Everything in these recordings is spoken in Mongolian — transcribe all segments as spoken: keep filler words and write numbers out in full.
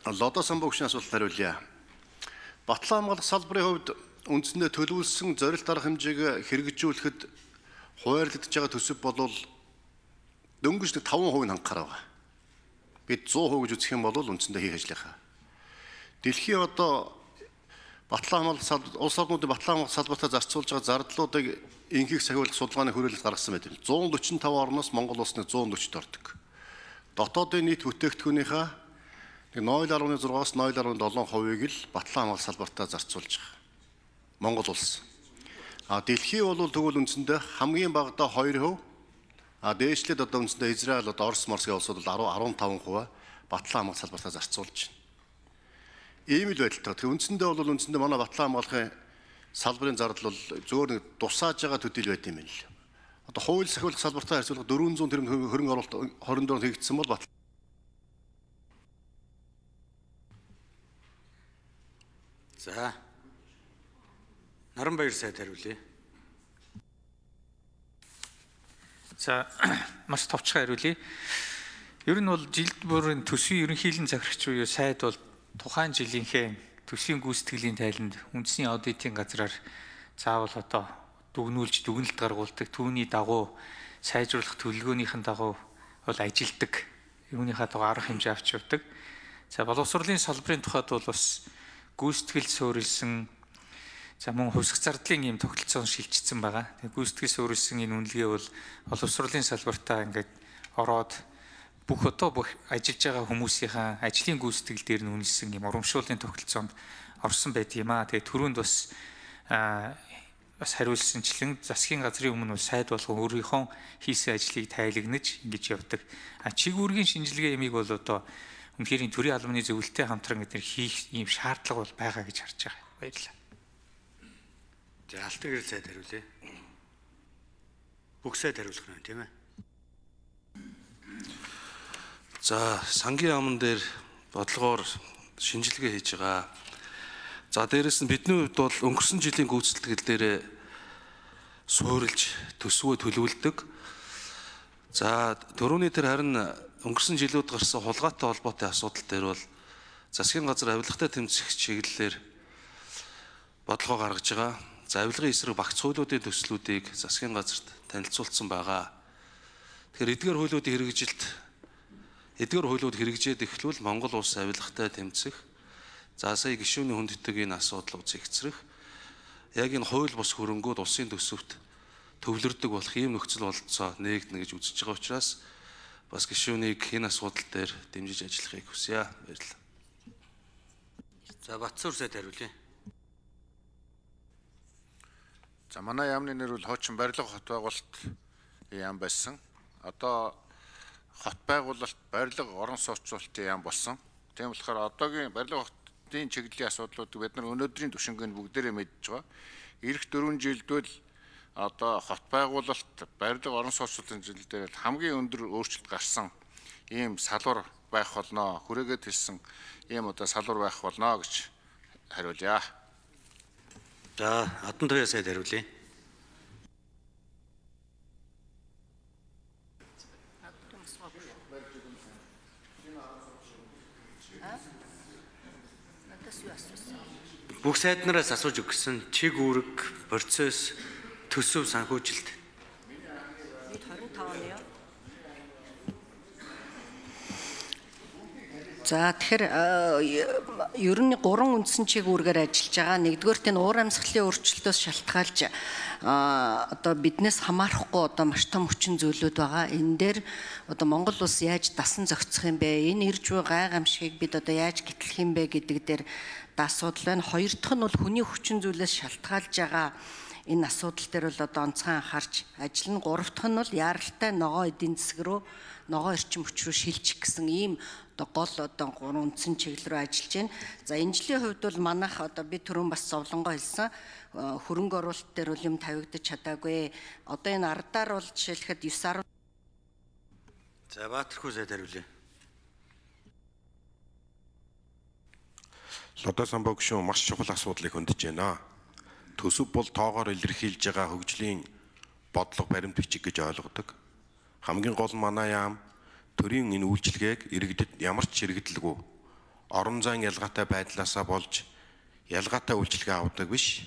Лодо самбогчны асуулт хариулъя. Батлан хамгаалах салбарын хувьд үндсэндээ төлөвлөсөн зорилт арга хэмжээг хэрэгжүүлэхэд хуваарлагдж байгаа төсөв бол дөнгөж нэг таван хувийг хангахаар байгаа. Бид зуун хувь гэж үзэх юм бол үндсэндээ хийх ажлынхаа. Дэлхийн одоо Батлан хамгаалах салбар, улс орнуудын батлан хамгаалах салбартаа зарцуулж байгаа зардлуудыг инхийг сахиулах судалгааны хүрээлэлд гаргасан байдаг. зуун дөрвөн таван орноос Монгол улсны зуун дөрвөд ордог. Дотоодын нийт бүтээгдэхүүнийхээ нуль гаруй зургаас нуль гаруй долоо хувийг л батлан хамгаалах салбартаа зарцуулж байгаа. Монгол улс. А дэлхий бол тэгвэл үндсэндээ хамгийн багадаа хоёр хувь. А дээшлээд одоо үндсэндээ Израиль одоо Орос Морсгийн улсууд бол арван таван хувь батлан хамгаалах салбартаа зарцуулж байна. Ийм л байдалтай. Тэгэхээр үндсэндээ бол үндсэндээ манай батлан хамгаалахын салбарын зардал бол зөвөр нэг дусааж байгаа төдийл байт юм байна л. Одоо хууль сахиулах салбартаа харьцуулах дөрвөн зуун тэрбум хөрөнгө оруулалт хорин дөрөнд хийгдсэн бол батлан. За. Наранбаяр сайд хариулъя. За маш товчхон хариулъя. Ер нь бол жилд бүрийн төсвийн ерөнхийлөн захирагч буюу сайд бол тухайн жилийнхээ төсвийн гүйцэтгэлийн тайланд үндэсний аудитын газраар заавал одоо дүгнүүлж дүгнэлт гаргуулдаг, түүний дагуу сайжруулах төлөвлөгөөнийхэн дагуу бол ажилдаг. Юуныхаа дагуу арга хэмжээ авч явдаг. За боловсролын салбарын тухайд бол бас гүйцэтгэл суурилсан, за мөн хувьсах зардлын ийм тогтолцоон шилжчихсэн байгаа. Тэгээ гүйцэтгэл суурилсан энэ үнэлгээ бол боловсролын салбартаа ингээд ороод бүх одоо бүх ажиллаж байгаа хүмүүсийнхаа ажлын гүйцэтгэл дээр нь үнэлсэн юм урамшууллын тогтолцоонд орсон байт юм аа. Тэгээ түрүүнд бас бас хариулсанчлан засгийн газрын өмнө сайд болгон өөрийнхөө хийсэн ажлыг тайлагнаж ингэж явдаг. А чигүүргийн шинжилгээ ямиг бол одоо үнэхээр төрийн албаны зөвлөлттэй хамтран гэдэг хийх ийм шаардлага бол байгаа гэж харж байгаа. Баярлалаа. За алтан гэрэл сайд хариулъя. Бүх сайд хариулах нь тийм ээ. За сангийн аман дээр бодлогоор шинжилгээ хийж байгаа. За дээрэс нь бидний хувьд бол өнгөрсөн жилийн гүйцэтгэл дээр суурилж төсвөө төлөвлөдөг. За дөрөвний тэр харин өнгөрсөн жилүүд гарсан хулгайтай холбоотой асуудал дээр бол засгийн газар авилгатай тэмцэх чиглэлээр бодлогоо гаргаж байгаа. За авилгын эсрэг багц хуулиудын төслүүдийг засгийн газарт танилцуулсан байгаа. Тэгэхээр эдгээр хуулиудын хэрэгжилт эдгээр хуулиуд хэрэгжээд эхлүүл Монгол улс авилгатай тэмцэх, за сая гишүүний хүндэтгэх энэ асуудлыг зэгцрэх, яг энэ хууль бус хөрөнгүүд улсын төсөвт төвлөрдөг болох ийм нөхцөл бололцоо нээгдэнэ гэж үзэж байгаа учраас бас гишүүнийг энэ асуудал дээр дэмжиж ажиллахыг хүсье. Баярлалаа. За Батсуур сайд хариулъя. За манай яамны нэр бол хуучин барилга хот байгуулалт яам байсан. Одоо хот байгуулалт барилга орон сууцруулалтын яам болсон. Тийм болохоор одоогийн барилга хотын чиглэлийн асуудлуудыг бид нар өнөөдрийн түвшингийн бүгдээрээ мэдж байгаа. Ирэх дөрвөн жилдвэл одоо хот байгуулалт барилга орон сууцруулалтын чиглэлээр хамгийн өндөр өөрчлөлт гарсан ийм салвар байх болно. Хүрээгээд хэлсэн ийм одоо салвар байх болно гэж хариулъя. За Адан туяа сайд хариулъя. Бүх сайднараас асууж өгсөн чиг үүрэг, процесс, төсөв санхүүжилт. За тэгэхээр ер нь гурван үндсэн чиг үүргээр ажиллаж байгаа. Нэгдүгээрт энэ уур амьсгалын өөрчлөлтөөс шалтгаалж одоо биднээс хамаарахгүй одоо маш том хүчин зүйлүүд байгаа. Энэ дээр одоо Монгол улс яаж дасан зохицох юм бэ? Энэ ирж буй гайхамшигыг бид одоо яаж гэтлэх юм бэ гэдэг дээр асуудал байна. Хоёр дахь нь бол хүний хүчин зүйлээс шалтгаалж байгаа энэ асуудал дээр бол одоо онцгой анхаарч ажиллана. Гурав дахь нь бол яаралтай ногоо эдийн засаг руу, ногоо эрчим хүч рүү шилжих гэсэн ийм одоо гол одоо гурван үндсэн чиглэл рүү ажиллаж байна. За энэ жилийн хувьд бол манайх одоо би түрүүн бас зовлонгоо хэлсэн хөрөнгө оруулалт дээр бол юм тавигдаж чадаагүй. Одоо энэ ардаар бол жишээлхэд девять. За Баатархүү сайд хариулъя. Лодо самбогчны маш чухал асуудлыг хөндөж байна. Төсөв бол тоогоор илэрхийлж байгаа хөгжлийн бодлого баримт бичиг гэж ойлгодог. Хамгийн гол манай яам төрийн энэ үйлчилгээг иргэдэд ямар ч хэрэгдэлгүй орон зайн ялгаатай байдлаасаа болж ялгаатай үйлчлэгээ авдаг биш.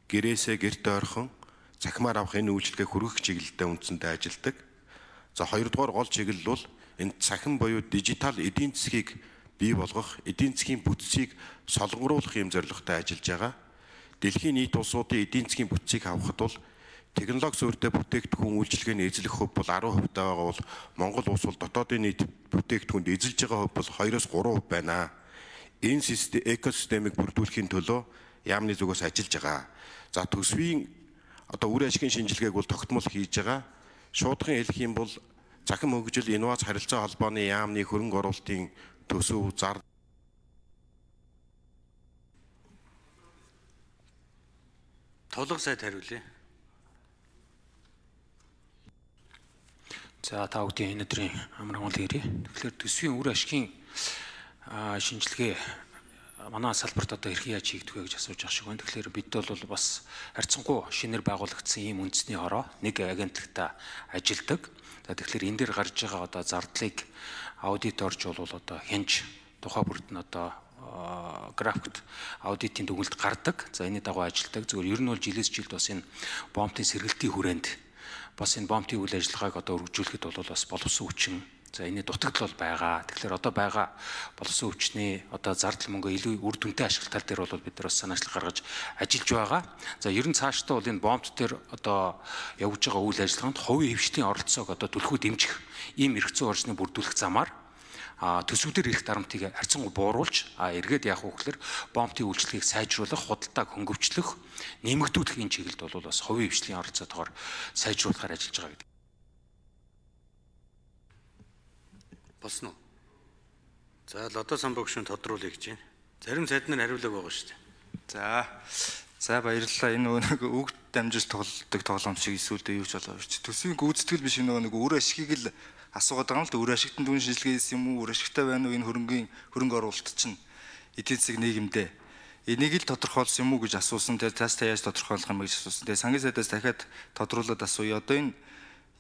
Гэрээсээ гэрт ойрхон цахимаар авах энэ үйлчлэгээ хүргэх чиглэлдээ үндсэндээ ажилладаг. За хоёрдугаар гол чиглэл бол энэ цахим буюу дижитал эдийн засгийг бий болгох, эдийн засгийн бүтцийг солонгоруулах юм зорилготой ажиллаж байгаа. Дэлхийн нийт улсуудын эдийн засгийн бүтцийг авахд бол технологи суурьтай бүтээгдэхүүн үйлчилгээний эзлэх хөв бол арван хувь байгаа бол Монгол улс бол дотоодын нийт бүтээгдэхүүнд эзэлж байгаа хөв бол хоёроос гурван хувь байна. Энэ систем экосистемийг бүрдүүлэхийн төлөө яамны зүгээс ажиллаж байгаа. За төсвийн одоо үр ашигын шинжилгээг бол тогтмол хийж байгаа. Шуудхан хэлэх юм бол захим хөгжил инновац харилцаа холбооны яамны хөрөнгө оруулалтын төсөв зар Тулга сайд хариулъя. За та бүхэн энэ өдрийн амрагуул ирээ. Тэгэхээр төсвийн үр ашигын шинжилгээ манай салбарт одоо хэрхэн яаж хийгдэх вэ гэж асууж байгаа шиг байна. Тэгэхээр бид бол бас харьцангуй шинээр байгуулагдсан ийм үндэсний хороо нэг агентлагтаа ажилладаг. За тэгэхээр энэ дээр гарч байгаа одоо зардлыг аудиторж бол одоо хянж тухай бүрд нь одоо графикт аудитын дүгнэлт гардаг. За энэний дагуу ажилладаг. Зөвхөн ер нь бол жилээс жилд бас энэ бомбын сэргэлтийн хүрээнд бас энэ бомбын үйл ажиллагааг одоо үргэлжлүүлэхэд бол бас боловсон хүчин. За энэ дутагдал бол байгаа. Тэгэхээр одоо байгаа боловсон хүчний одоо зардал мөнгө илүү үр дүнтэй ашиглах тал дээр бол бид нар бас санаачлал гаргаж ажиллаж байгаа. За ер нь цаашдаа бол энэ бомб дээр одоо явж байгаа үйл ажиллагаанд хувийн хвшлийн оролцоог одоо түлхүү дэмжих ийм эрх зүйн орчныг бүрдүүлэх замаар а төсвүүдээр ирэх дарамтыг харьцангуй бууруулж а эргээд яах вэ гэхээр бомбын үйлчлэгийг сайжруулах, худалдааг хөнгөвчлөх, нэмэгдүүлэх энэ чиглэлд бол бас хувийн хвшлийн оролцоотойгоор сайжруулахаар ажиллаж байгаа гэдэг. Болсон уу? За Лодо Самбогшин тодруулъя гэж байна. Зарим сайд нар хариулаг байгаа шүү дээ. За. За баярлалаа. Энэ нөгөө нэг өгд дамжиж тоглодог тоглоом шиг эсвэл юу ч болоо ч. Төсвийн гүйцэтгэл биш нөгөө нэг үр ашигыг л асуугаад байгаа юм л да. Үр ашигт дүн шинжилгээ хийсэн юм уу? Үр ашигтай байна уу? Энэ хөрөнгөний хөрөнгө оруулалт чинь эдийн засаг нийгэмдээ энийг л тодорхойлсон юм уу гэж асуусан. Тэгээ тас та яаж тодорхойлох юм гэж асуусан. Тэгээ сангийн сайдаас дахиад тодруулаад асууя. Одоо энэ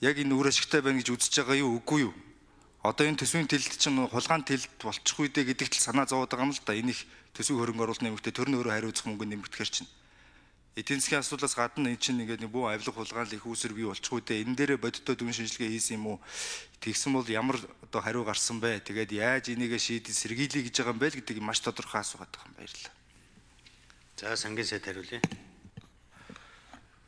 яг энэ үр ашигтай байна гэж үзэж байгаа юу үгүй юу? Одоо энэ төсвийн тэлэлт чинь хулгаан тэлэлт болчих үү дээ гэдэгт л санаа зовоод байгаа юм л да. Энэ их төсвийн хөрөнгө оруулалт нэмэгдээ төр нь өөрөө хариуцах мөнгө нэмэгдэхэр чинь. Эдийн засгийн асуудлаас гадна энэ чинь ингээд бүү авилга хулгаан л их үүсэр бий болчих үү дээ. Энэ дээрээ бодиттой дүн шинжилгээ хийсэн юм уу? Тэгсэн бол ямар одоо хариу гарсан бэ? Тэгээд яаж энийгээ шийдэл сэргийлье гэж байгаа юм бэ л гэдэг маш тодорхой асуугаад байгаа юм. Баярлалаа. За сангийн сайд хариулъя.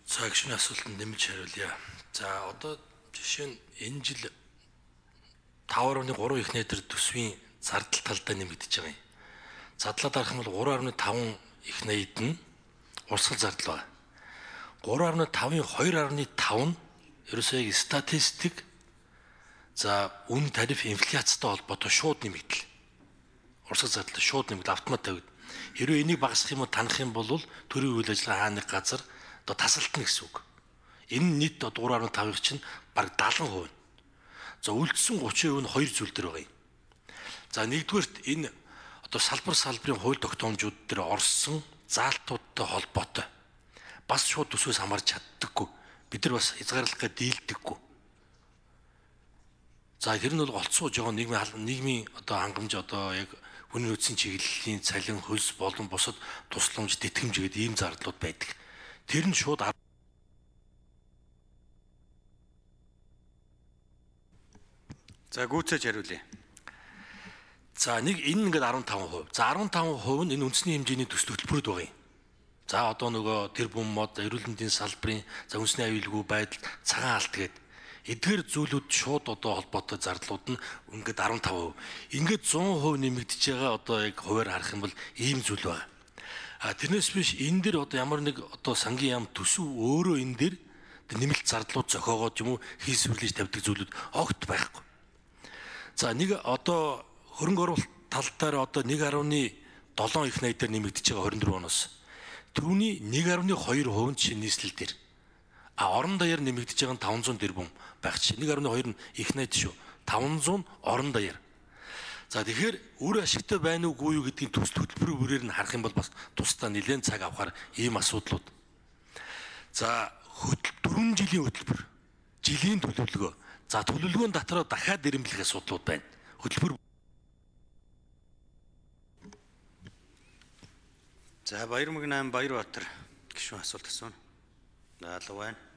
За гişний асуултанд нэмж хариулъя. За одоо жишээ нь энэ жил таван гаруй гурван их нэтер төсвийн зардал талдаа нэмэгдэж байгаа юм. Задлаад арах юм бол гурван гаруй таван их найд нь урсгал зардал байна. гурван гаруй тавын хоёр гаруй таван нь ерөөсөө яг статистик за үн тариф инфляцтай холбоотой шууд нэмэгдэл. Урсгал зардал шууд нэмэгдэл автомат тавигд. Хэрвээ энийг багасгах юм уу танах юм бол төрийн үйл ажиллагаа хааны газар одоо тасалтна гэсэн үг. Энэ нийт гурван гаруй тавын чинь бараг дагалан хувь. За үлдсэн гучин хувь нь хоёр зүйл дээр байгаа юм. За нэгдүгээрт энэ одоо салбар салбарын хууль тогтоомжууд дээр орсон заалтуудтай холбоотой бас шууд төсвөөс хамаарч чаддаггүй. Бид нар бас хязгаарлахыг дийлдэггүй. За тэр нь бол олцсууж байгаа нийгмийн нийгмийн одоо хангамж одоо яг хүний нөөцийн чиглэлийн цалин хөлс болон бусад тусламж тэтгэмж гэдэг ийм зардлууд байдаг. Тэр нь шууд За гүйцээж хариулъя. За нэг энэ ингээд арван таван хувь. За арван таван хувь нь энэ үндэсний хэмжээний төсөл хөтөлбөрөд байгаа юм. За одоо нөгөө тэр бүм мод эрүүл мэндийн салбарын за үндэсний аюулгүй байдал цагаан алт гээд эдгээр зүйлүүд шууд одоо холбоотой зардлууд нь ингээд арван таван хувь. Ингээд зуун хувь нэмэгдэж байгаа одоо яг хуваар харах юм бол ийм зүйл байна. А тэрнээс биш энэ дэр одоо ямар нэг одоо сангийн яам төсөв өөрөө энэ дэр нэмэлт зардлууд зохиогоод юм уу хийсвэрлэж тавьдаг зүйлүүд огт байхгүй. За нэг одоо хөрөнгө оруулалт тал дээр одоо нэг гаруй долоон их найдаар нэмэгдэж байгаа хорин дөрөв оноос түүний нэг гаруй хоёр хувь нь чинь нийслэл дээр а орон даяар нэмэгдэж байгаа нь таван зуун тэрбум байх чинь нэг гаруй хоёр нь их найд шүү таван зуун орон даяар. За тэгэхээр үр ашигтай байна уугүй юу гэдгийг төсөл хөтөлбөрийн үрээр нь харах юм бол бас тусдаа нэлээд цаг авахар ийм асуудлууд. За дөрвөн жилийн хөтөлбөр жилийн төлөвлөгөө. За төлөвлөгөөнд дотроо дахиад ирэмблэх асуудлууд байна. Хөтөлбөр За Баярмаг найм Баярбаатар гишүүн асуулт асууна. Даалга байна.